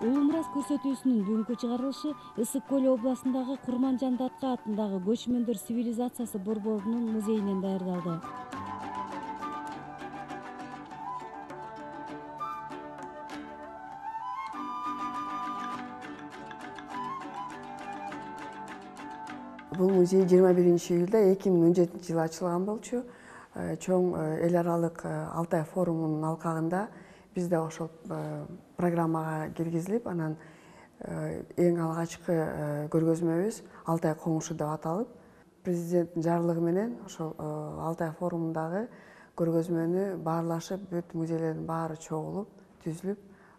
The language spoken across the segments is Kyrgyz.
Улуу мурас көрсөтүүсүнүн бүгүнкү чыгарылышы Ысык Көл областындагы Курманжан Датка атындагы көчмөндөр цивилизациясы борборунун музейинен даярдалды. Бул музей 21-июлда 2017-жылы ачылган болчу. Чоң эл аралык Алтай форумунун алкагында бизде ошол программага киргизилип, анан эң алгачкы көргөзмөбүз Алтай коңушу деп аталып, президенттин жарлыгы менен ошол Алтай форумундагы көргөзмөнү баарлашып, бүт музейлердин баары чогулуп, түзүлүп,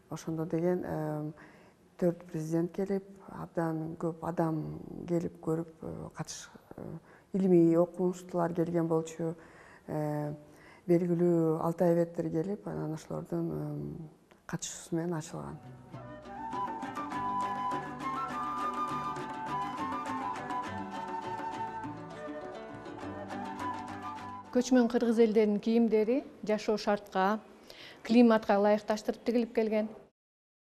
ошондо деген 4 президент келип, абдан көп адам келип көрүп, илимий окумуштуулар келген болчу, белгилүү алтайбеттер келип, анан ошолордун катышуусу менен ачылган. Көчмөн кыргыз элдеринин кийимдери жашоо шартка, климатка ылайыкташтырып тигилип келген.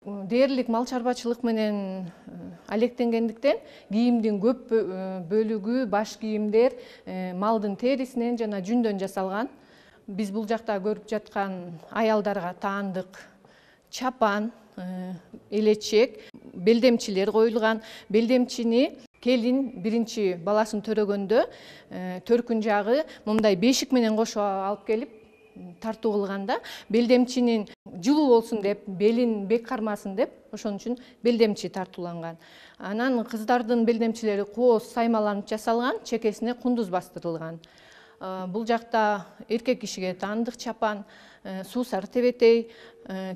Дээрлик мал чарбачылык менен алектенгендиктен кийимдин көп бөлүгү, баш кийимдер малдын терисинен жана жүндөн жасалган. Биз бул жакта көрүп жаткан аялдарга таандык чапан, элечек, белдемчилер коюлган. Белдемчини келин биринчи баласын төрөгөндө төркүн жагы мындай бешик менен кошо алып келип тартуу кылганда, белдемчинин жылуу болсун деп, белин бек кармасын деп, ошон үчүн белдемчи тартууланган. Анан кыздардын белдемчилери кооз саймаланып жасалган, чекесине кундуз бастырылган. Бул жакта эркек кишиге таандык чапан, суусар тебетей,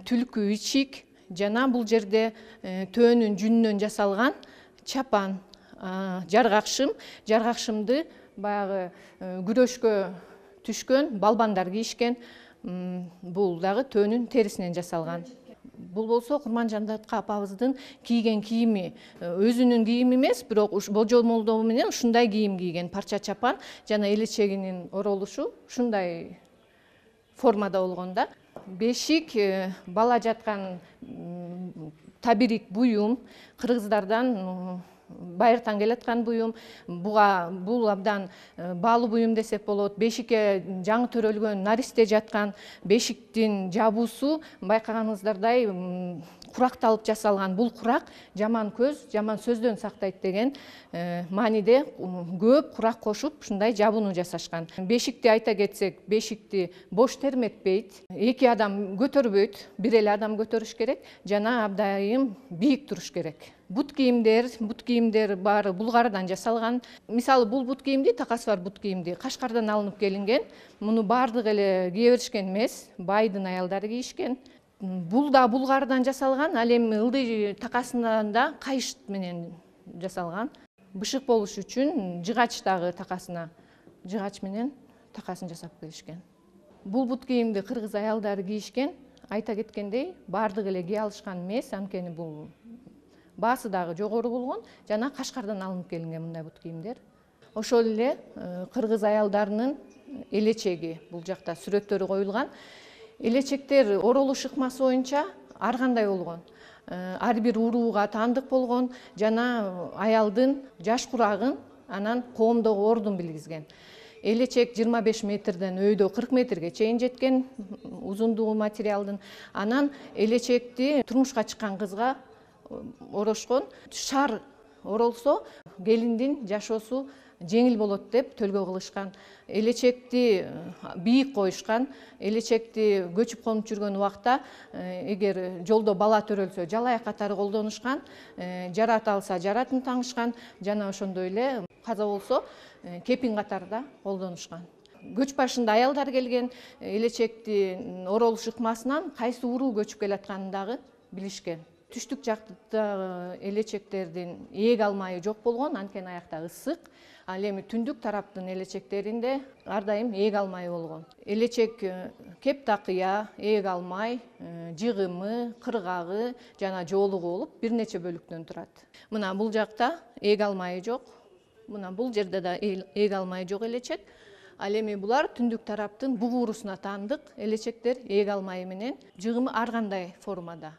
түлкү ичик жана бул жерде төөнүн жүнүнөн жасалган чапан, жаргакшым, жаргакшымды баягы күрөшкө түшкөн балбандар кийишкен. Бул дагы төөнүн терисинен жасалган. Бул болсо Курманжан Датка апабыздын кийген кийими, өзүнүн кийими эмес, бирок божомолдоо менен ушундай кийим кийген, парча чапан жана элечегинин оролушу ушундай формада болгон да. Бешик бала жаткан табирик буюм, кыргыздардан байыртан келаткан буюм. Бул абдан баалуу буюм десек болот. Бешикке жаңы төрөлгөн наристе жаткан, бешиктин жабуусу байкаганыңыздардай куракталып жасалган. Бул курак жаман көз, жаман сөздөн сактайт деген мааниде көп курак кошуп, ушундай жабууну жасашкан. Бешикти айта кетсек, бешикти бош терметпейт, 2 адам көтөрбөйт, бир эле адам көтөрүш керек жана абдайым бийик туруш керек. Бут кийимдер баары булгардан жасалган. Мисалы, бул бут кийимди, такасы бар бут кийимди Кашкардан алынып келинген. Муну баардыгы эле кие беришкен эмес, байдын аялдары кийишкен. Бул да булгардан жасалган, ал эми ылдый такасынан да кайыш менен жасалган. Бышык болуш үчүн жыгач дагы такасына, жыгач менен такасын жасап келишкен. Бул бут кийимди кыргыз аялдары кийишкен. Айта кеткендей, баардыгы эле кие алышкан эмес, анткени бул баасы дагы жогору болгон жана Кашкардан алынып келинген мындай бут кийимдер. Ошол эле кыргыз аялдарынын элечеги бул жакта сүрөттөрү коюлган. Элечектер оролуш ыкмасы боюнча ар кандай болгон. Ар бир урууга таандык болгон жана аялдын жаш курагын, анан коомдогу ордун билгизген. Элечек 25 метрден өйдө 40 метрге чейин жеткен узундугу материалдын. Анан элечекти турмушка чыккан кызга орошкон. Шар оролсо келиндин жашоосу жеңил болот деп төлгө кылышкан. Элечекти бийик коюшкан. Элечекти көчүп конуп жүргөн убакта эгер жолдо бала төрөлсө жалаяк катары колдонушкан, жарат алса жаратын таңышкан жана ошондой эле каза болсо кепин катарда колдонушкан. Көч башында аялдар келген, элечекти оролуш ыкмасынан кайсы уруу көчүп келатканын дагы билишкен. Түштүк жактагы элечектердин ээк алмайы жок болгон, анткени аякта ысык. Ал эми түндүк тараптын элечектеринде ар дайым ээк алмайы болгон. Элечек кептакыя, ээк алмай, жыгымы, кыргагы жана жоолугу болуп бир нече бөлүктөн турат. Мына бул жакта ээк алмайы жок. Мына бул жерде да ээк алмайы жок элечек. Ал эми булар түндүк тараптын буг уурусуна таандык элечектер ээк алмайы менен, жыгымы ар кандай формада.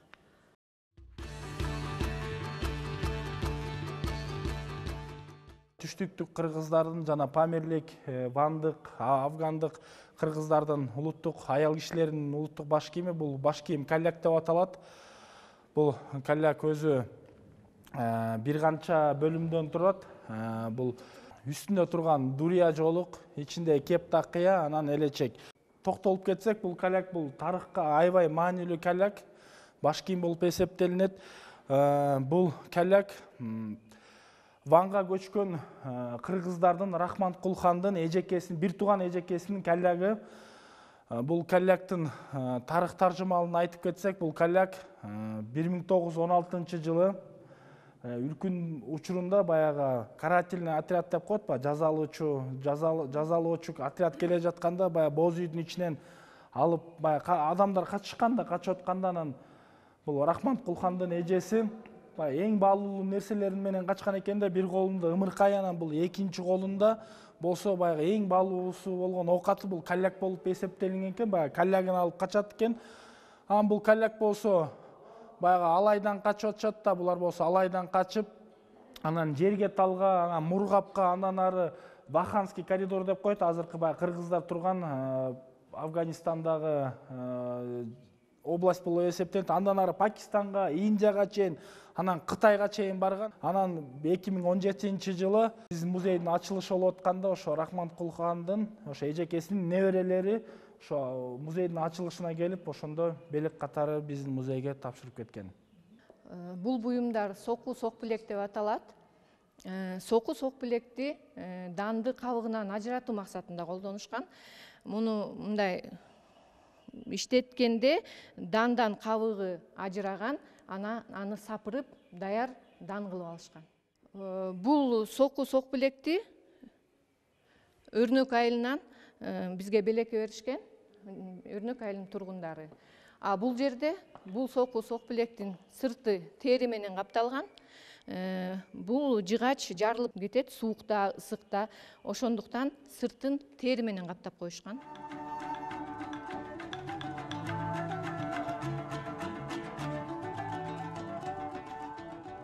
Түштүктүк кыргыздардын жана памирлик, вандык, афгандык кыргыздардын улуттук аял кишилеринин улуттук баш кийими бул баш кийим калляк деп аталат. Бул калляк өзү бир канча бөлүмдөн турат. Бул үстүндө турган дурия жоолук, ичинде кептакыя, анан элечек. Токтолуп кетсек, бул калляк бул тарыхка аябай маанилүү калляк, баш кийим болуп эсептелинет. Бул калляк Ванга көчкөн кыргыздардын Рахманкул хандын эжекесинин, бир тууган эжекесинин каллягы. Бул калляктын тарых таржымалын айтып кетсек, бул калляк 1916 үркүн учурунда баягы карательный отряд деп коет ба, жазалоочу отряд келе жатканда баягы боз үйдүн ичинен алып баягы адамдар качышканда, качып атканда анан бул Рахманкул хандын эжеси эң баалуу нерселерин менен качкан экен да, бир колунда ымыркай, анан бул экинчи колунда болсо баягы эң баалуусу болгон оокаты бул калляк болуп эсептелинген экен, баягы каллягын алып качат экен. Анан бул калляк болсо баягы алайдан качып атышат да, булар болсо алайдан качып, анан жерге талга, анан Мургапка, андан ары Ваханский коридор деп коет, азыркы баягы кыргыздар турган Афганистандагы область болуп эсептелет. Андан ары Пакистанга, Индияга чейин, анан Кытайга чейин барган. Анан 2017-жылы биздин музейдин ачылышы болуп атканда ошо Рахманкул хандын ошо эжекесинин неберелери ошо музейдин ачылышына келип, ошондо белек катары биздин музейге тапшырып кеткен. Бул буюмдар соку сок билек деп аталат. Соку сок билекти данды кабыгынан ажыратуу максатында колдонушкан. Муну мындай иштеткенде дандан кабыгы ажыраган, аны сапырып даяр дан кылып алышкан. Бул соку сок билекти Өрнөк айылынан бизге белекке беришкен, Өрнөк айылынын тургундары. Бул жерде бул соку сок билектин сырты тери менен капталган. Бул жыгач жарылып кетет суукта, ысыкта, ошондуктан сыртын тери менен каптап коюшкан.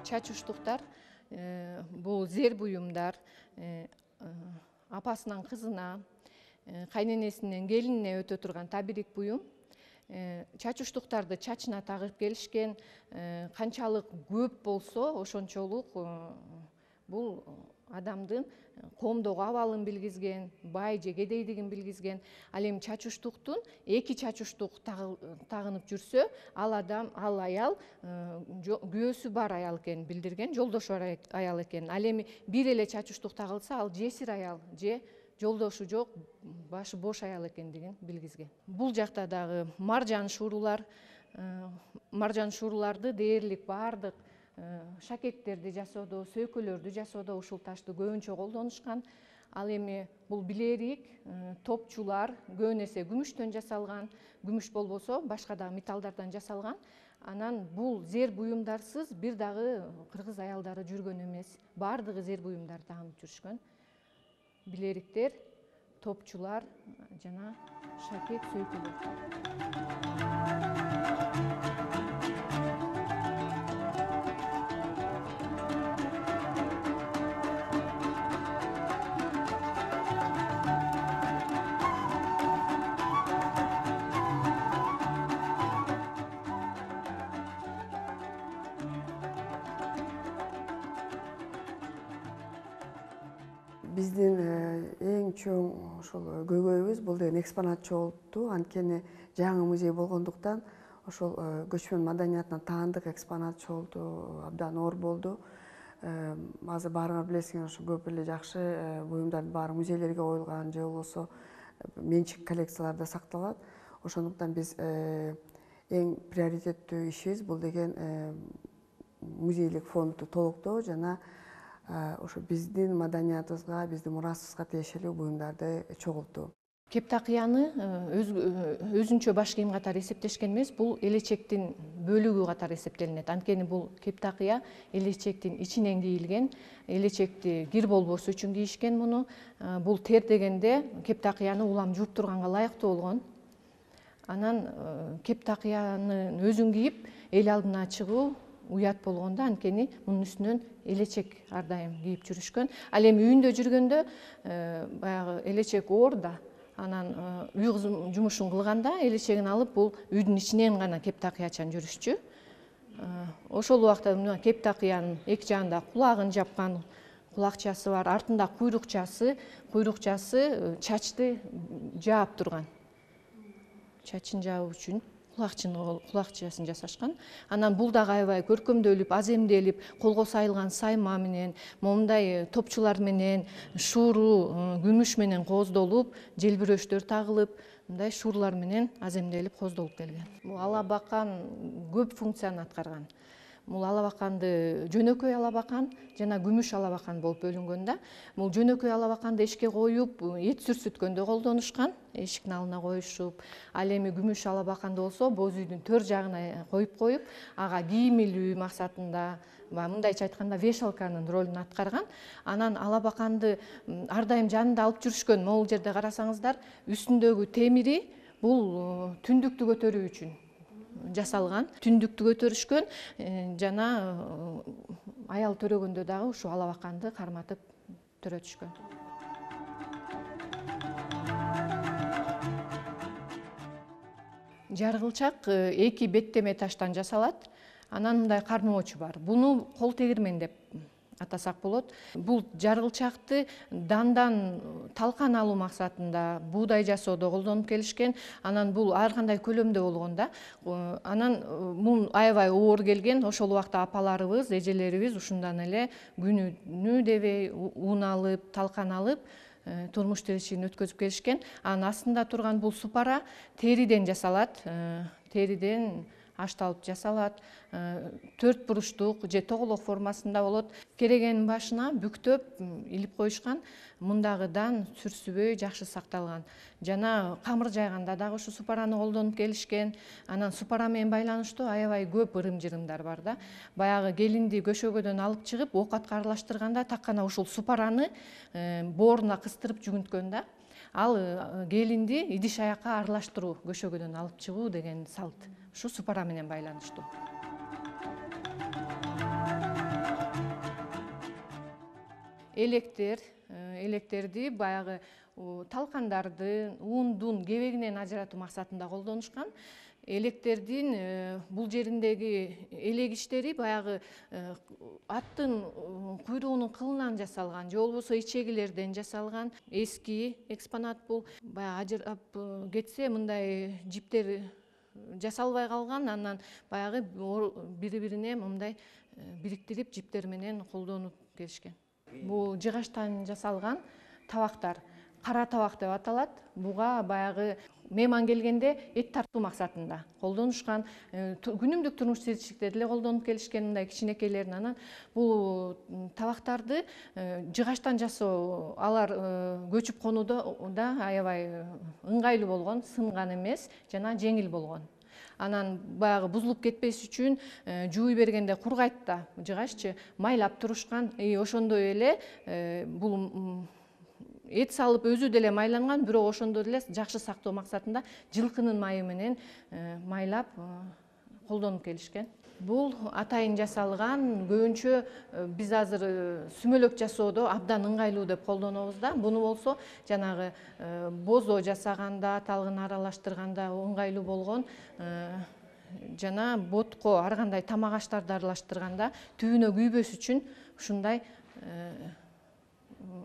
Чачуштуктар бул зер буюмдар апасынан кызына, кайненесинен келинине өтө турган табирик буюм. Чачуштуктарды чачына тагып келишкен, канчалык көп болсо ошончолук бул адамдын коомдогу абалын билгизген, бай же кедейдигин билгизген. Ал эми чачуштуктун эки чачуштук тагынып жүрсө, ал аял күйөөсү бар аял экенин билдирген, жолдошу бар аял экенин. Ал эми бир эле чачуштук тагылса, ал жесир аял же жолдошу жок, башы бош аял экендигин билгизген. Бул жакта дагы маржан шууруларды дээрлик баардык шакектерди жасоодо, сөйкөлөрдү жасоодо ушул ташты көбүнчө колдонушкан. Ал эми бул билерик, топчулар көбүн эсе күмүштөн жасалган, күмүш болбосо башка дагы металлдардан жасалган. Анан бул зер буюмдарсыз бир дагы кыргыз аялдары жүргөн эмес. Баардыгы зер буюмдарды тагынып жүрүшкөн. Билериктер, топчулар жана шакек, сөйкөлөр. Биздин эң чоң ошол көйгөйүбүз бул деген экспонат чогултуу. Анткени жаңы музей болгондуктан ошол көчмөн маданиятына таандык экспонат чогултуу абдан оор болду. Азыр баарыңар билесиңер, ошо көп эле жакшы буюмдардын баары музейлерге коюлган же болбосо менчик коллекцияларда сакталат. Ошондуктан биз эң приоритеттүү ишибиз бул деген музейлик фондду толуктоо жана ошо биздин маданиятыбызга, биздин мурасыбызга тиешелүү буюмдарды чогултуу. Кептакыяны өзүнчө баш кийим катары эсептешкен эмес, бул элечектин бөлүгү катары эсептелинет. Анткени бул кептакыя элечектин ичинен кийилген, элечекти кир болбосу үчүн кийишкен муну. Бул тер дегенде кептакыяны улам жууп турганга ылайыктуу болгон. Анан кептакыянын өзүн кийип эл алдына чыгуу уят болгондо, анткени мунун үстүнөн элечек ар дайым кийип жүрүшкөн. Ал эми үйүндө жүргөндө баягы элечек оор да, анан үй жумушун кылганда элечегин алып бул үйдүн ичинен гана кептакыячан жүрүшчү. Ошол убакта мына кептакыянын эки жагында кулагын жапкан, кулакчасы бар, артында куйрукчасы чачты жаап турган. Чачын жаап үчүн кулакчасын жасашкан. Анан бул дагы аябай көркөмдөлүп, аземделип, колго сайылган сайма менен, момундай топчулар менен, шууру күмүш менен кооздолуп, желбирөөчтөр тагылып, мындай шуурлар менен аземделип кооздолуп келген. Бул алабакан көп функцияны аткарган. Бул алабаканды жөнөкөй алабакан жана күмүш алабакан болуп бөлүнгөн да. Бул жөнөкөй алабаканды эшикке коюп, эт сүрсүткөндө колдонушкан, эшиктин алдына коюшуп. Ал эми күмүш алабаканды болсо боз үйдүн төр жагына коюп, ага кийим илүү максатында, мындайча айтканда вешалканын ролун аткарган. Анан алабаканды ар дайым жанында алып жүрүшкөн. Могул жерде карасаңыздар, үстүндөгү темири бул түндүктү көтөрүү үчүн жасалган. Түндүктү көтөрүшкөн жана аял төрөгөндө дагы ушу алабаканды карматып төрөтүшкөн. Жаргылчак эки беттеме таштан жасалат. Анан мындай кармоочу бар. Буну кол тегирмен деп атасак болот. Бул жаргылчакты дандан талкан алуу максатында буудай жасоодо колдонуп келишкен. Анан бул ар кандай көлөмдө болгон да. Анан бул аябай оор келген. Ошол убакта апаларыбыз, эжелерибиз ушундан эле күнүнү дебей ун алып, талкан алып турмуш тиричилигин өткөзүп келишкен. Анын астында турган бул супара териден жасалат. Териден ашталып жасалат. 4 буруштук же тоголок формасында болот. Керегенин башына бүктөп илип коюшкан. Мындагыдан сүрсүбөй жакшы сакталган. Жана камыр жайганда дагы ушу супараны колдонуп келишкен. Анан супара менен байланыштуу аябай көп ырым-жырымдар бар да. Баягы келинди көшөгөдөн алып чыгып, оокатка аралаштырганда таккана ушул супараны бооруна кыстырып жүгүнткөн да. Ал келинди идиш аякка аралаштыруу, көшөгөдөн алып чыгуу деген салт. Ушу супара менен байланыштуу. Электерди баягы талкандарды ундун кебегинен ажыратуу максатында колдонушкан. Электердин бул жериндеги элегиштери баягы аттын куйругунун кылынан жасалган, же болбосо ичегилерден жасалган эски экспонат бул. Баягы ажырап кетсе мындай жиптер жасалбай калган, анан баягы бири-бирине мындай бириктирип жиптер менен колдонуп келишкен. Бул жыгачтан жасалган табактар, кара табак деп аталат. Буга баягы мейман келгенде эт тартуу максатында колдонушкан. Күнүмдүк турмуш тиричиликте деле колдонуп келишкен мындай кичинекейлерин. Анан бул табактарды жыгачтан жасоо, алар көчүп конууда да аябай ыңгайлуу болгон, сынган эмес жана жеңил болгон. Анан баягы бузулуп кетпеш үчүн жууй бергенде кургайт да жыгаччы, майлап турушкан. Ошондой эле бул эт салып өзү деле майланган, бирок ошондой эле жакшы сактоо максатында жылкынын майы менен майлап колдонуп келишкен. Бул атайын жасалган, көбүнчө биз азыр сүмөлөк жасоодо абдан ыңгайлуу деп колдонобуз да. Буну болсо жанагы бозо жасаганда, талгын аралаштырганда ыңгайлуу болгон. Жана ботко ар кандай тамак аштарды аралаштырганда түбүнө күйбөс үчүн ушундай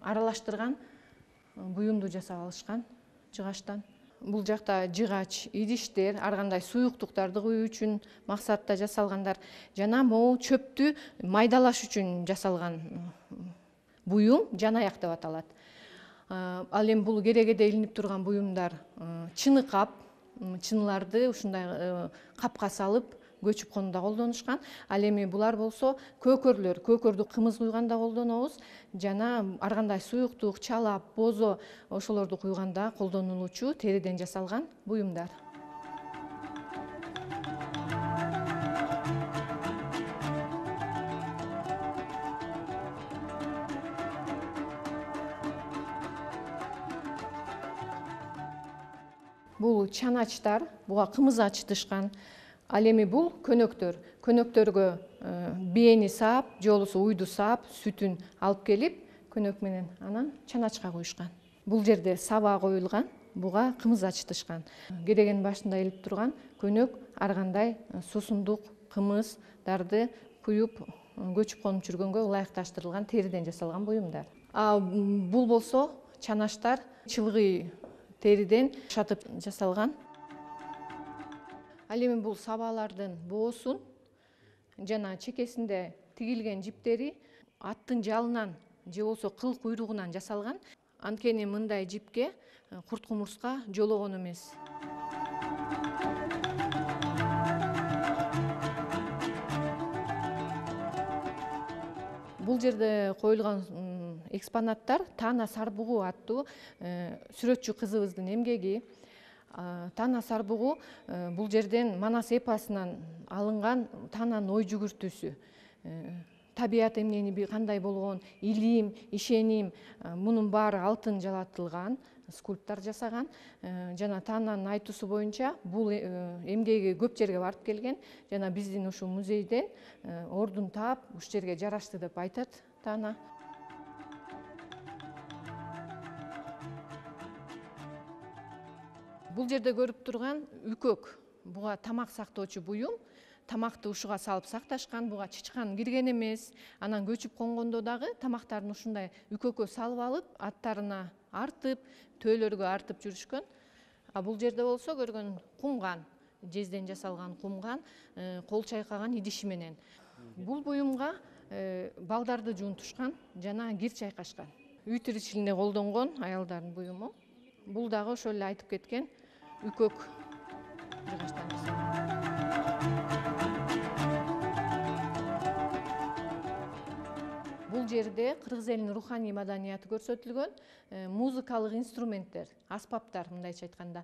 аралаштырган буюмду жасап алышкан жыгачтан. Бул жакта жыгач, идиштер, ар кандай суюктуктарды куюу үчүн максатта жасалгандар. Жана могу чөптү майдалаш үчүн жасалган буюм жанаяк деп аталат. Ал эми бул керегеде илинип турган буюмдар чыны кап, чыныларды ушундай капка салып көчүп конууда колдонушкан. Ал эми булар болсо көкөрлөр, көкөрдү кымыз куйганда колдонобуз. Жана ар кандай суюктук, чалап, бозо ошолорду куйганда колдонулуучу териден жасалган буюмдар. Бул чаначтар, буга кымыз ачытышкан. Ал эми бул көнөктөргө бээни саап же болбосо уйду саап сүтүн алып келип көнөк менен анан чаначка куюшкан. Бул жерде саба коюлган, буга кымыз ачытышкан. Керегенин башында илип турган көнөк ар кандай суусундук кымыздарды куюп көчүп конуп жүргөнгө ылайыкташтырылган териден жасалган буюмдар. Бул болсо чанаштар чылгый териден шатып жасалган. Ал эми бул сабалардын боосун жана чекесинде тигилген жиптери аттын жалынан же болбосо кыл куйругунан жасалган. Анткени мындай жипке курт кумурска жологон эмес. Бул жерде коюлган экспонаттар Таана Сарбугу аттуу сүрөтчү кызыбыздын эмгеги. Таана Сарбугу бул жерден Манас эпосунан алынган Таананын ой жүгүртүүсү. Табият эмнени кандай болгон, илим, ишеним, мунун баары алтын жалатылган, скульптор жасаган. Жана Таананын айтуусу боюнча бул эмгеги көп жерге барып келген. Жана биздин ушул музейден ордун таап, ушул жерге жарашты деп айтат Таана. Бул жерде көрүп турган үкөк. Буга тамак сактоочу буюм. Тамакты ушуга салып сакташкан, буга чычкан кирген эмес. Анан көчүп конгондо дагы тамактарын ушундай үкөккө салып алып, аттарына артып, төөлөргө артып жүрүшкөн. Бул жерде болсо көргөн кумган, жезден жасалган кумган, кол чайкаган идиши менен. Бул буюмга балдарды жуунтушкан жана кир чайкашкан. Үй тиричилигинде колдонгон аялдардын буюму. Бул дагы ошол эле айтып кеткен үкөк жыгачтан жасалган. Бул жерде кыргыз элинин руханий маданияты көрсөтүлгөн. Музыкалык инструменттер, аспаптар, мындайча айтканда,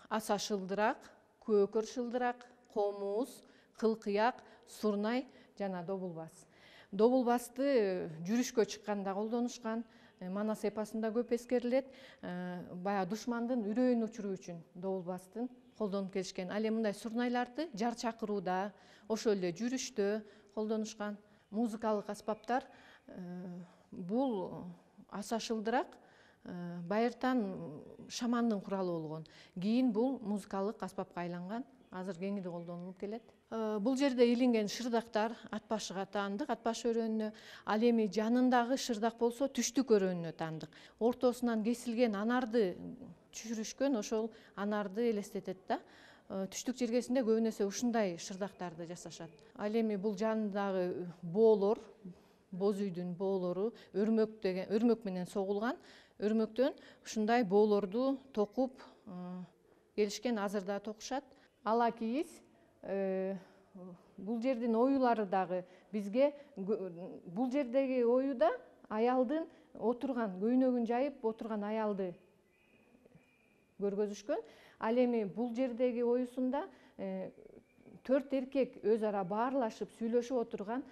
аса шылдырак, көкөр шылдырак, комуз, кылкыяк, сурнай жана добулбас. Добулбасты жүрүшкө чыкканда колдонушкан. Манас эпосунда көп эскерилет. Баягы душмандын үрөйүн учуруу үчүн добулбастын колдонуп келишкен. Ал эми мындай сурнайларды жар чакырууда, ошол эле жүрүштө колдонушкан. Музыкалык аспаптар бул аса шылдырак байыртан шамандын куралы болгон. Кийин бул музыкалык аспапка айланган. Азыр кеңири колдонулуп келет. Бул жерде илинген шырдактар ат башыга таандык, ат баш өрөөнүнө. Ал эми жанындагы шырдак болсо түштүк өрөөнүнө таандык. Ортосунан кесилген анарды түшүрүшкөн, ошол анарды элестетет да. Түштүк жергесинде көбүн эсе ушундай шырдактарды жасашат. Ал эми бул жанындагы боолор, боз үйдүн боолору өрмөк менен согулган. Өрмөктөн ушундай боолорду токуп келишкен, азыр да токушат. Ала кийиз бул жердин оюлары дагы бизге бул жердеги оюда аялдын отурган, көйнөгүн жайып отурган аялды көргөзүшкөн. Ал эми бул жердеги оюсунда 4 эркек өз ара баарлашып, сүйлөшүп отурган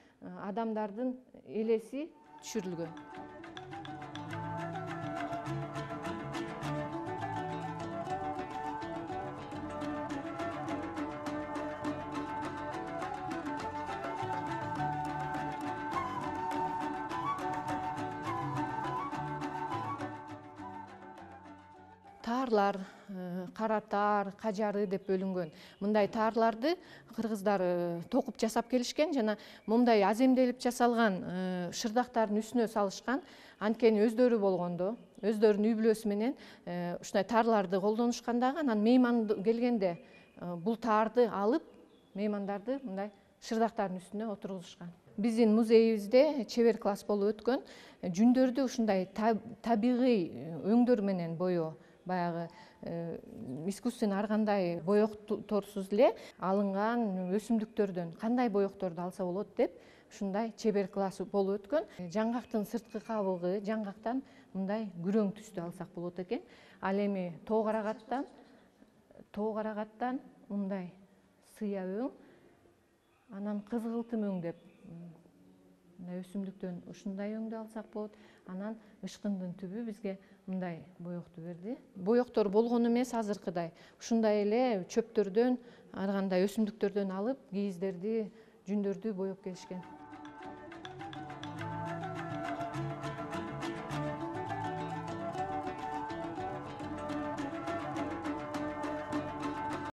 адамдардын элеси түшүрүлгөн. Таарлар, каратаар, кажары деп бөлүнгөн. Мындай таарларды кыргыздар токуп жасап келишкен жана мындай аземделип жасалган шырдактардын үстүнө салышкан. Анткени өздөрү болгондо, өздөрүнүн үй бүлөсү менен ушундай таарларды колдонушкан дагы. Анан мейман келгенде бул таарды алып, меймандарды мындай шырдактардын үстүнө отургузушкан. Биздин музейибизде чебер класс болуп өткөн. Жүндөрдү ушундай табигый өңдөр менен боё, баягы искусственный ар кандай боекторсуз эле алынган өсүмдүктөрдөн кандай боекторду алса болот деп ушундай чебер класс болуп өткөн. Жаңгактын сырткы кабыгы жаңгактан мындай күрөң түстү алсак болот экен. Ал эми тоо карагаттан мындай сыя өң, анан кызгылтым өң деп мындай өсүмдүктөн ушундай өңдү алсак болот. Анан ышкындын түбү бизге мындай боекту берди. Боектор болгон эмес азыркыдай. Ушундай эле чөптөрдөн ар кандай өсүмдүктөрдөн алып кийиздерди, жүндөрдү боеп келишкен.